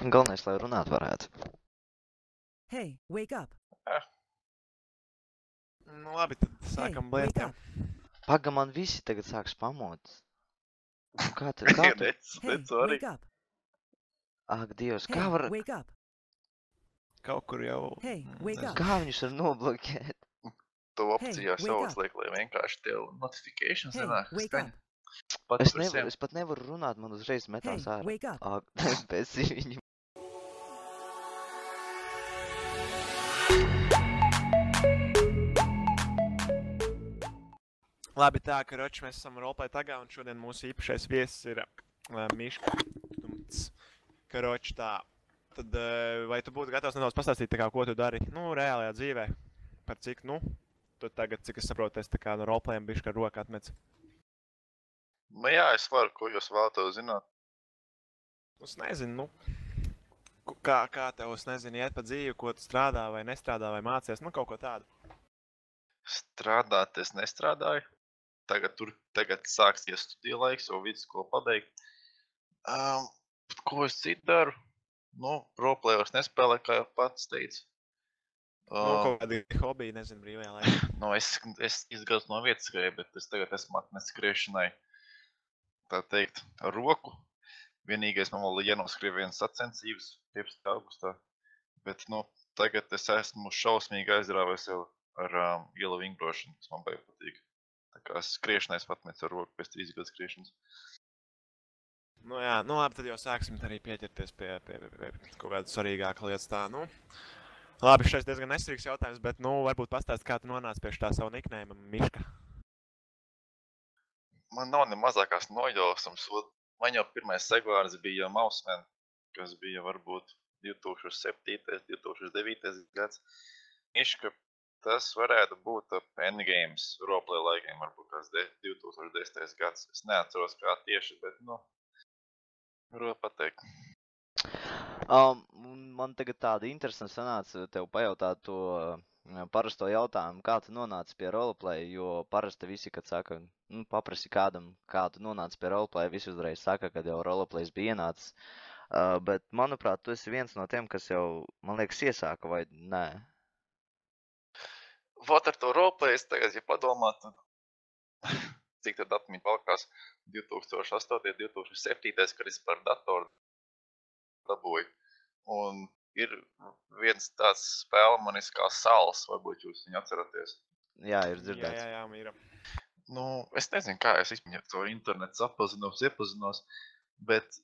Galvenais, lai runāt varētu. Hey, wake up. Nu labi, tad Hey, sākam wake blēst jau. up. Paga, man visi tagad sāks pamot. Kā tu? Hey, Sorry. wake up. Ak, Dievs, Hey, kā var... wake up. Kaut kur jau... Hey, wake up. Kā viņus var nobloķēt? Tu opcijās wake jau up. uzliek, lai vienkārši tev notifications Hey, nenāk wake skaņa. up. Pat Es par pat nevaru runāt, man uzreiz Hey, metās ārā. wake up. Ak, pēc viņu. Labi, tā, karoči, mēs esam roleplay tagad, un šodien mūsu īpašais viesis ir Miška. Karoči, tā. Tad, vai tu būtu gatavs nedaudz pastāstīt, tā kā, ko tu dari, nu, reālajā dzīvē? Par cik, nu, tu tagad, cik es saprotu, es tā kā no roleplayiem bišķi ar roku atmec. Nu jā, es varu, ko jūs vēlatos zināt. Es nezinu, nu, kā tev, es nezinu, iet pa dzīvi, ko tu strādā vai nestrādā vai mācies, nu, kaut ko tādu. Strādāt es nestrādāju. Tagad sāksies studiju laiks, jau vidusskolu pabeigt. Ko es citu daru? Nu, roleplayos nespēlē, kā jau pats teicu. Nu, kaut kādi hobiji, nezinu, brīvajā laikā. Nu, es izgāju no vietas skrēju, bet es tagad esmu atnes skriešanai, tā teikt, ar roku. Vienīgais man vēl jānoskrien viens sacensības 15. augustā. Bet, nu, tagad es esmu šausmīgi aizrāvies jau ar ielu vingrošanu, kas man baigi patīk. Tā kā skriešanai es patmecu ar roku pēc 3 gadu skriešanas. Nu jā, nu labi, tad jau sāksim arī pieķerties pie kaut kāda svarīgāka lietas tā, nu. Labi, šeit diezgan nesvarīgs jautājums, bet, nu, varbūt pastāst, kā tu nonāci pie tā savu nickname Miška. Man nav ne mazākās nojausmas. Man jau pirmais segvārds bija Mouseman, kas bija varbūt 2007. 2009. gads. Miška, tas varētu būt Endgames roleplay laikiem, varbūt kāds 2010. gads. Es neatceros kā tieši, bet, nu, varu pateikt. Man tagad tāda interesanta sanāca tev pajautāt to parasto jautājumu, kā tu nonāci pie roleplay, jo parasti visi, kad saka, nu, paprasi kādam, kā tu nonāci pie roleplay, visi uzreiz saka, kad jau roleplays bija ienācis. Bet, manuprāt, tu esi viens no tiem, kas jau, man liekas, iesāka, vai nē? Vot ar to roleplay es tagad, ja padomāt, tad cik tad atmiņa valkās 2008. 2007. kad es par datoru dabūju. Un ir viens tāds spēlemanis kā Sals, varbūt jūs viņu atceraties. Jā, ir dzirdēts. Jā, mīra. Nu, es nezinu, kā es vispār caur internetu iepazinos, bet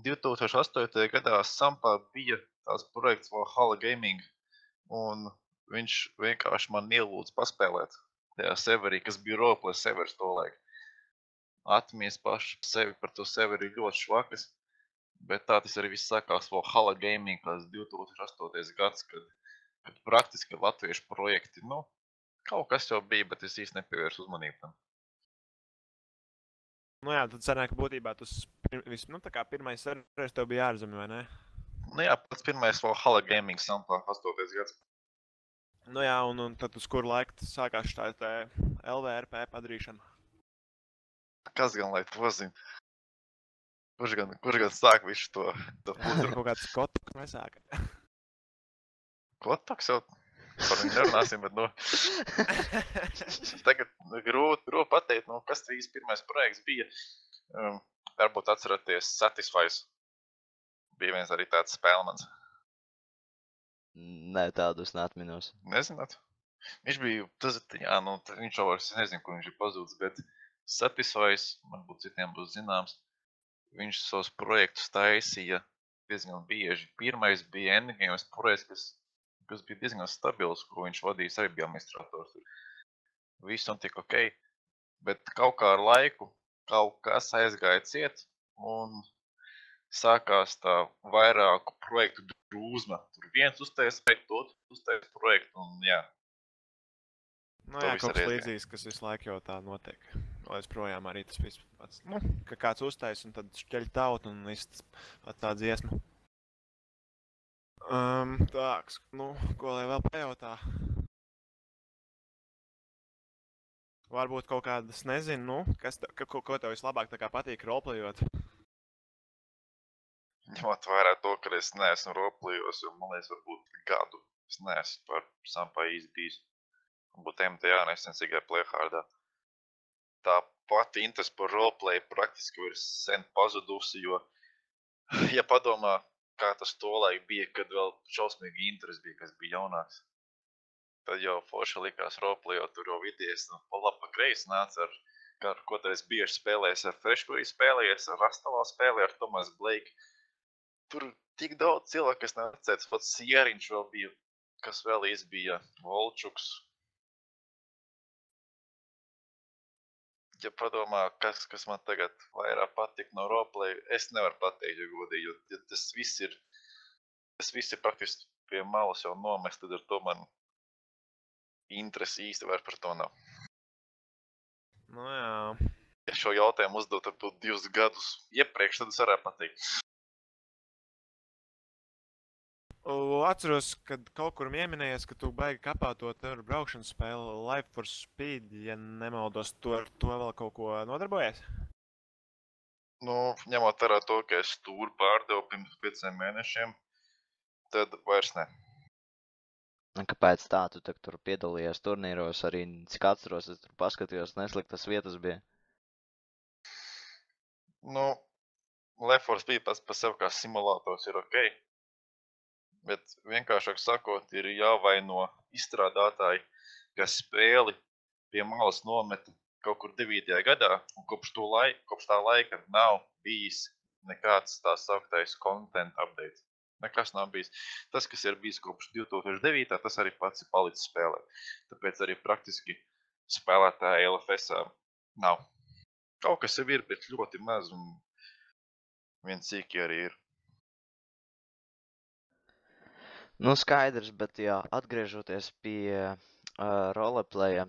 2008. gadā Sampā bija tās projekts Valhalla Gaming, un viņš vienkārši man ielūdz paspēlēt tajā serverī, kas bija roleplay servers to laiku. Atmies paši sevi par to serveri ļoti švakas, bet tā tas arī viss sākās Valhalla Gaming, kas 2008. gads, kad praktiski latviešu projekti, nu, kaut kas jau bija, bet es īsti nepievērsu uzmanību tam. Nu jā, tad sanāk, ka būtībā nu tā kā pirmais serveris tev bija ārzemē, vai ne? Nu jā, pats pirmais Valhalla Gaming Sampā 8. gads. Nu jā, un tad uz kuru laiku tas sākās tā LVRP padarīšana? Kas gan lai to zina? Kurš gan sāk visu to Tur putru? kaut kāds kotoks nesāka. Kotoks jau par viņu nerunāsim, bet, nu, tagad grūti pateikt, nu, kas tas pirmais projekts bija. Varbūt atceraties Satisfies. Bija viens arī tāds spēlemans. Nē, tādu es neatminos. Nezināt? Viņš bija, viņš jau vairs nezinu, kur viņš ir pazūdis, bet Satisfies, varbūt citiem būs zināms, viņš savus projektus taisīja diezgan bieži. Pirmais bija Endgames projekts, kas bija diezgan stabils, ko viņš vadījis, arī bija administrators. Viss un tik ok, bet kaut kā ar laiku kaut kas aizgāja ciet un sākās tā vairāku projektu drūzma. Tur viens uztais projektu, otrs uztais projektu un jā. Nu jā, kaut kas līdzīgs, kas visu laiku jau tā notiek. Līdz projām arī tas viss pats. Nu, ka kāds uztais un tad šķeļ tautu un viss tā dziesma. Tāks, nu, ko lai vēl pajautā? Varbūt kaut kādas, nezinu, nu, ko tev vislabāk tā kā patīk roleplayot? ņemot vērā to, ka es neesmu roleplayos, jo man liekas, varbūt gadu es neesmu par sampā īsti bijis. Varbūt MTA nesen tikai playhardā. Tā pati interese par roleplay praktiski ir sen pazudusi, jo, ja padomā, kā tas tolaik bija, kad vēl šausmīgi interesi bija, kas bija jaunāks, tad jau forši likās roleplay, jo tur jau vidies, pa labi pa kreisi nāca ar ko tu esi bieži spēlējies ar Freshbury spēlējies, ar Rastalā spēlējies, ar Thomas Blake. Tur tik daudz cilvēku, kas neatcētas, pats Sieriņš vēl bija, kas vēl bija, Volčuks. Ja padomā, kas man tagad vairāk patīk no roleplay, es nevaru pateikt, ja godīgi, jo tas viss ir praktiski pie malas jau nomest, tad ar to man interesi īsti vairs par to nav. Nu jā. Ja šo jautājumu uzdot ar 2 gadus iepriekš, tad es varētu pateikt. Atceros, kad kaut kur pieminējies, ka tu baigi kapāt to tev braukšanas spēli Life for Speed, ja nemaldos, tu ar to vēl kaut ko nodarbojies? Nu, ņemot vērā to, ka es tūru pārdevu pirms 5 mēnešiem, tad vairs ne. Kāpēc tā? Tu tur piedalījies turnīros arī, cik atceros, es tur paskatījos, nesliktas vietas bija. Nu, Life for Speed pats par sevi kā simulators ir ok. Bet vienkāršāk sakot, ir jāvaino izstrādātāji, kas spēli pie malas nometa kaut kur 9. gadā, un kopš tā laika nav bijis nekāds tā sauktais content update. Nekas nav bijis. Tas, kas ir bijis kopš 2009. Tas arī pats ir palicis spēlē. Tāpēc arī praktiski spēlētāja LFS-ā nav. Kaut kas jau ir, bet ļoti maz, un viens cīki arī ir. Nu, skaidrs, bet jā, atgriežoties pie roleplaya,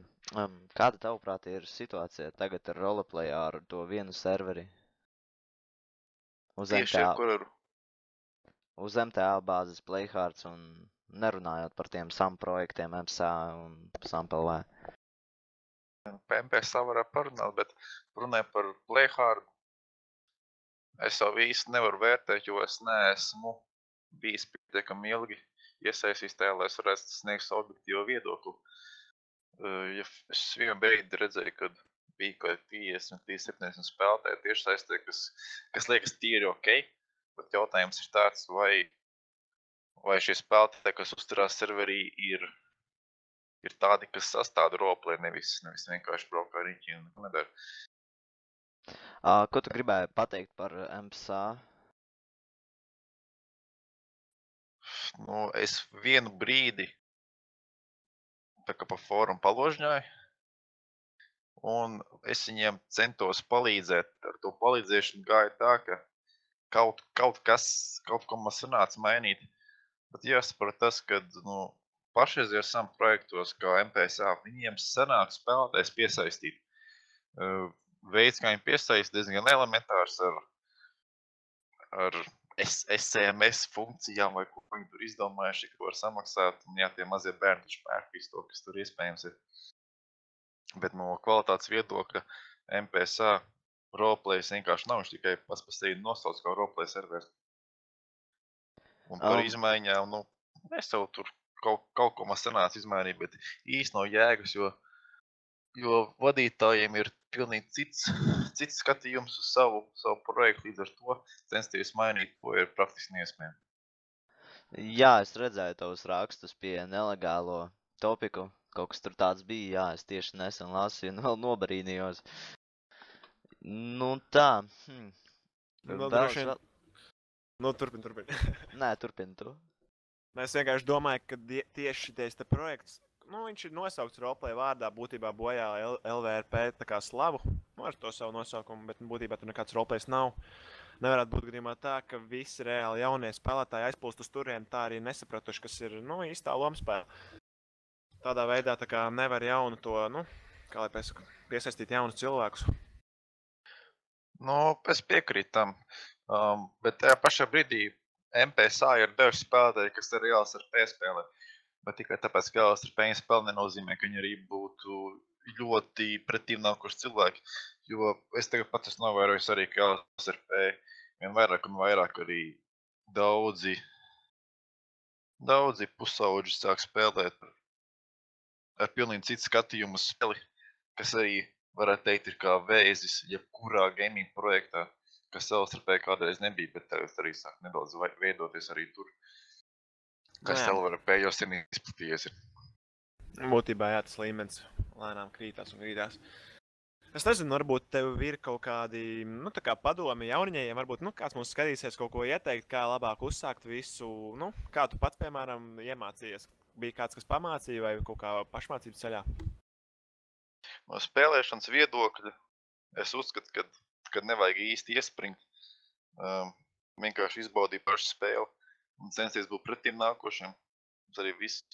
kāda tavuprāt ir situācija tagad ar roleplayā ar to vienu serveri? Uz Tieši MTA, ar kur uz MTA bāzes Playhards un nerunājot par tiem SAM projektiem MSA un SAMPLV. PMPSā varētu parunāt, bet runāju par Playhard. Es jau īsti nevaru vērtēt, jo es neesmu bijis pietiekami ilgi iesaistījis tajā, lai es varētu sniegt savu objektīvo viedokli. Ja es vienu brīdi redzēju, kad bija kaut 50-70 spēlētāji tieši saistē, kas liekas tīri ok, bet jautājums ir tāds, vai šie spēlētāji, kas uzturās serverī, ir tādi, kas sastāda roleplay, nevis vienkārši braukā riņķi un nedara. Ko tu gribēji pateikt par MSA? Nu, es vienu brīdi tā kā pa fórumu paložņāju, un es viņiem centos palīdzēt. Ar to palīdzēšanu gāja tā, ka kaut ko man sanāca mainīt. Bet jāsaprot tas, ka pašreizējos SAM projektos, kā MPSA, viņiem sanāk spēlētājs piesaistīt. Veids, kā viņi piesaist, diezgan elementārs ar SMS funkcijām, vai ko viņi tur izdomājuši, ka var samaksāt, un jā, tie mazie bērni taču pērk visu to, kas tur iespējams ir. Bet no kvalitātes viedokļa MPSA roleplays vienkārši nav, viņš tikai pats par sevi nosauc kā roleplay servers. Un par izmaiņām, es jau tur kaut ko man sanāca izmainīt, bet īsti nav jēgas, jo vadītājiem ir pilnīgi cits skatījums uz savu projektu, līdz ar to censties mainīt, ko ir praktiski neiespējami. Jā, es redzēju tavus rakstus pie nelegālo topiku. Kaut kas tur tāds bija, jā, es tieši nesen lasīju un vēl nobarīnījos. Nu tā. Turpin. Nē, turpin tu. Es vienkārši domāju, ka tieši šitais te projekts, viņš ir nosaukts roleplay vārdā, būtībā bojā LVRP tā kā slavu, ar to savu nosaukumu, bet būtībā tur nekāds roleplays nav. Nevarētu būt gadījumā tā, ka visi reāli jaunie spēlētāji aizplūst uz turieni, tā arī nesapratuši, kas ir, īstā lomspēle. Tādā veidā tā kā nevar jaunu to, kā lai piesaistīt jaunus cilvēkus. Es piekrītu tam, bet tajā pašā brīdī MPSA ir daži spēlētāji, kas ir reāls ar spēlē. Bet tikai tāpēc, ka reāls ar spēle nenozīmē, ka viņi arī būtu ļoti pretīm nākuši cilvēki. Jo es tagad pats esmu novērojis arī, ka reāls ar vien vairāk un vairāk arī daudzi pusauģi sāk spēlēt ar pilnīgi citu skatījumu uz spēli, kas arī, varētu teikt, ir kā vēzis, jebkurā gaming projektā, kas savstarpēji kādreiz nebija, bet tagad arī sāk nedaudz veidoties arī tur, kas savstarpējos ir izplatījies. Būtībā jā, tas līmenis lēnām krītās un krītās. Es nezinu, varbūt tev ir kaut kādi, nu, tā kā padomi jauniņajiem, varbūt, nu, kāds mums skatīsies kaut ko ieteikt, kā labāk uzsākt visu, nu, kā tu pats, piemēram, iemācījies? Bija kāds, kas pamācīja vai kaut kā pašmācības ceļā? No spēlēšanas viedokļa es uzskatu, ka nevajag īsti iespringt, vienkārši izbaudīt pašu spēli un censties būt pretim nākošiem. Tas arī viss.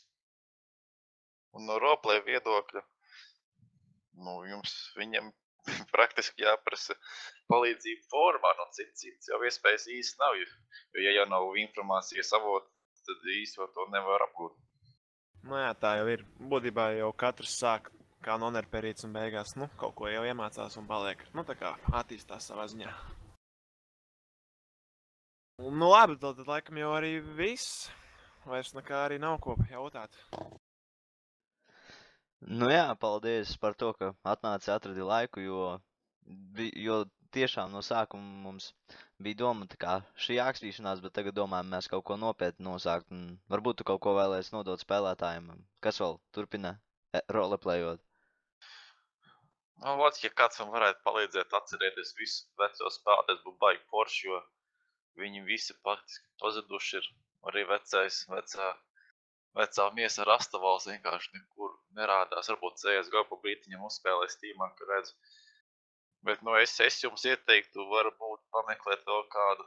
Un no roleplay viedokļa, nu, viņam praktiski jāprasa palīdzību formā, no cits jau iespējas īsti nav, jo ja jau nav informācijas avota, tad īsti to nevar apgūt. Nu jā, tā jau ir. Būtībā jau katrs sāk kā nonerperīts un beigās, nu, kaut ko jau iemācās un paliek. Nu, tā kā attīstās savā ziņā. Nu labi, tad laikam jau arī viss. Vairs nekā arī nav ko jautāt. Nu jā, paldies par to, ka atnāci atradi laiku, jo tiešām no sākuma mums bija doma tā kā šī ākstīšanās, bet tagad domājam mēs kaut ko nopietni nosākt. Un varbūt tu kaut ko vēlēsi nodot spēlētājiem. Kas vēl turpina roleplayot? Nu, vat, ja kāds man varētu palīdzēt atcerēties visu veco spēli, tas būtu baigi forši, jo viņi visi praktiski pazuduši ir. Arī vecā miesa Rastavals vienkārši nekur nerādās. Varbūt CSGO pa brītiņam uzspēlē Steamā, ka redzu. Bet, nu, es jums ieteiktu, varbūt pameklēt vēl kādu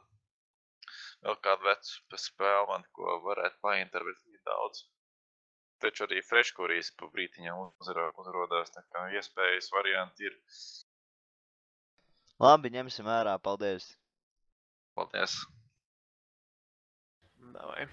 vecu spēli man, ko varētu painterpretēt daudz. Taču arī freškurijas pa brītiņam uzrodās, tā kā iespējas varianti ir. Labi, ņemsim vērā, paldies! Paldies! Davai.